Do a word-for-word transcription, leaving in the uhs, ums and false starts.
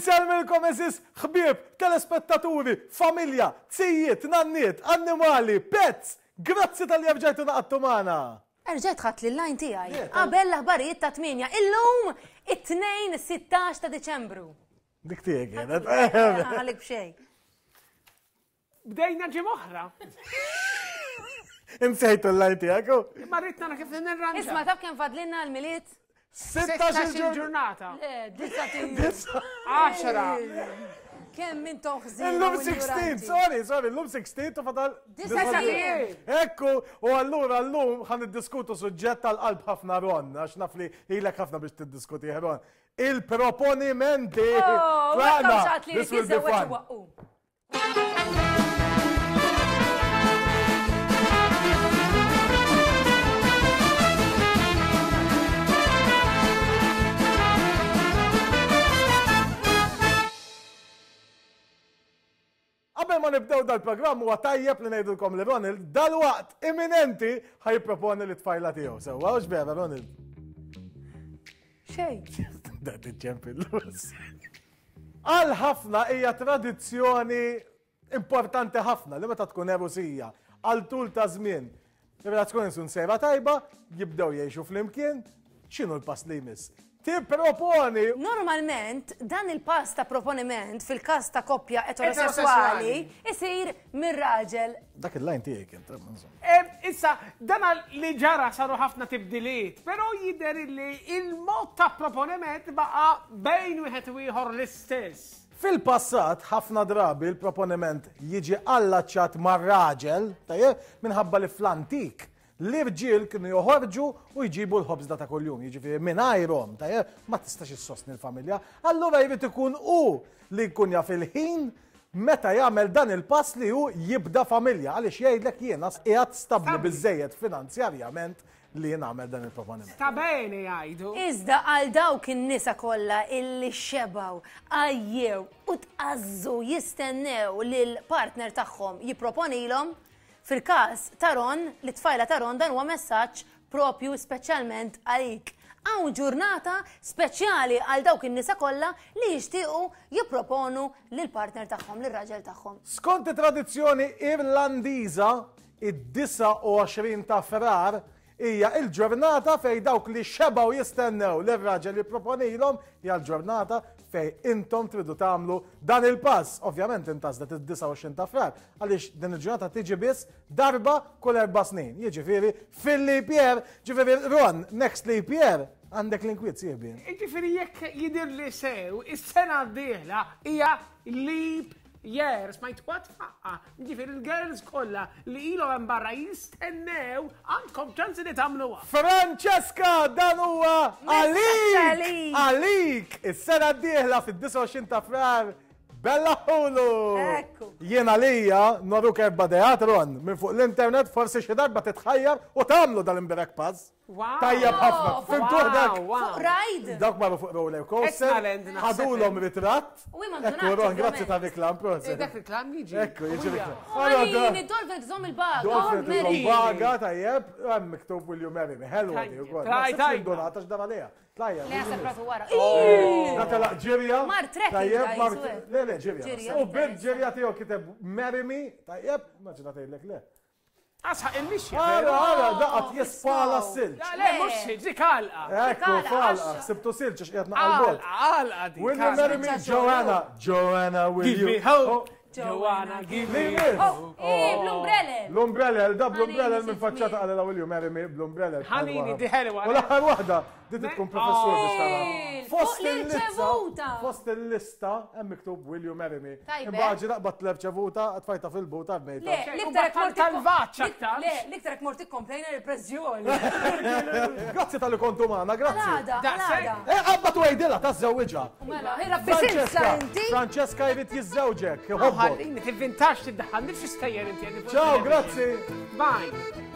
Insellmilkom għeżież ħbieb, telespettaturi, familja, zijiet, nanniet, annimali, pets. Grazzi talli erġajtu ngħaqadtu magħna. Erġajt ħadt l-line tiegħi. Qabel l-aħbarijiet ta' tmienja. Illum it-Tnejn sittax ta' Diċembru. Dik tiegħek kienet. Għalik b'xejn. Bdejna ġimgħa oħra. Insejtu l-line tiegħek. Ma rrid nara kif nirranġa. Isma' taf kemm fadlinna l-Milied? sittax il-ġurnata. Le, disa' Għaxra. Kemm intom ħżin. Illum sittax, sorry, sorry, illum sittax u fadal. Disa' Ekku, u allura llum ħa niddiskutu suġġett tal-qalb ħafna Ron, għax naf li ilek ħafna biex tiddiskuti Ron. Il-proponimenti. Oh, Tlaqna, this will be fun. Qabel ma nibdew dal-programm huwa tajjeb li ngħidulkom li Ronald dal-waqt imminenti ħa jipproponi lit-tfajla tiegħu. Sewwa, hux vera Ronald? Xejn. Da tiġġempillus. Għal ħafna hija tradizzjoni importanti ħafna li meta tkun erusija għal tul ta' żmien. Ir-relazzjoni sun sejra tajba, jibdew jgħixu flimkien, x'inhu l-pass li jmiss? Tipproponi. Normalment, dan il-pass ta' proponiment fil-każ ta' koppja eterosessuali isir mir-raġel. Dak il-line tiegħi kien, insomma. Issa, dan li ġara saru ħafna tibdiliet, però jidher li il-mod ta' proponiment baqa' bejn wieħed u ieħor l-istess. Fil-passat, ħafna drabi l-proponiment jiġi allaċċat mar-raġel, tajjeb, minħabba li fl-antik l-irġiel kienu joħorġu u jġibu l-ħobżda ta' kuljum, jiġifieri mingħajrhom, tajjeb, ma tistax issostni l-familja. Allura jrid ikun hu li jkun jaf il-ħin meta jagħmel dan il-pass li hu jibda familja, għaliex jgħidlek jiena qiegħed stabbli biżejjed finanzjarjament li jien nagħmel dan il-proponiment. Sta bene jgħidu. Iżda għal dawk in-nisa kollha illi xebaw, għajjew u tqażżu jistennew lil partner tagħhom jipproponilhom, fil-każ ta' Ron, li tfajla ta' Ron dan huwa messaġġ propju speċjalment għalik. Hawn ġurnata speċjali għal dawk in-nisa kollha li jixtiequ jipproponu lil partner tagħhom, lir-raġel tagħhom. Skont it-tradizzjoni Irlandiża, id-disgħa u għoxrin ta' Frar hija il-ġurnata fej dawk li xebaw jistennew lir-raġel jipproponilhom, hija l-ġurnata fej intom tridu tagħmlu dan il-pass. Ovvjament intażlet id-disgħa u għoxrin ta' Frar, għaliex din il-ġurnata tiġi biss darba kull erba' snin. Jiġifieri fil-leap year, ġifieri Ron, next leap year, għandek l-inkwiet sieħbi. Jiġifieri jekk jidher li sew, is-sena d-dieħla hija leap year, smajt kwat faqqa. Ġifieri il-girls kollha li ilhom hemm barra jistennew għandkom ċansi li tagħmluha. Francesca, dan huwa Messaġġ għalik! għalik! Għalik! Is-sena d-dieħla fid-disgħa u għoxrin ta' Frar, Bella Ħulu! Ekku. Jien għalija noruk erba' dejat, Ron, minn fuq l-internet forsi xi darba titħajjar u tagħmlu dal-imbirek pass. Wow. Tajjeb ħafna. Oh, Fimtu wow, dak? wow. Fuq ride. Dawk marru fuq roller coaster. Etnaland, naħseb. Ħadulhom ritratt. U imma Ekku, donat, Ron, grazzi ovvjament. ta' reklam, proset. Eh, dak reklam jiġi. Ekku, jiġi Uja. reklam. Oh, Marini, dolphin tżomm il-baga. Dolphin Oh, tżomm Mary. baga, tajjeb. Hemm miktub Will you marry me? Hello, di wkoll. Tajjeb. Naħseb li donata x'dar għaliha. Tlajja. Le, għasab ratu wara. Da telaq ġirja. Mar trekking, Tajjeb, daj, mar suwe. Le, le, ġirja. Ġirja. U bil ġirja tiegħu kiteb marry me, tajjeb, maġina tgħidlek le. Asħaq il-mixja. Ara, ara, daqat jespala oh, s-silġ. La, le, mhux silġ, dik għalqa. Ekku, Għalqa, falqa, għax- sibtu silġ għax qiegħed naqal bot. Għalqa, għalqa dik. Will you marry me, Għalqa. Joanna? Joanna, will Give you? me hope. Oh, Joanna, give me Li hope. Eh, bl-umbrella. L-umbrella, da bl-umbrella Ħanini minn faċċata sitt għalila will you marry me bl-umbrella. Ħanini, di ħelwa. U l-aħħar waħda, di tkun professur biex tara. Eh, Fost fuq l-irċevuta. Fost il-lista, hemm miktub will you marry me. Tajbek. Imbagħad ġi naqbad l-irċevuta, tfajta fil-buta bmejta. Le, l-iktar U mort tal-vaċ aktar. Le, l-iktar mort ikkomplejna il-pressjoni. Grazzi tal-li kontu magħna, grazzi. Għalada, Daqshekk. għalada. Eh, qabba tu għidilha tażżewwiġha. Mela, ħirabbi silsa Francesca, inti. Francesca jrid jiżżewġek, iħobbok. Ħallini, tivvintax tiddaħħal, nifx istejjer inti. Ciao, grazzi. Bye.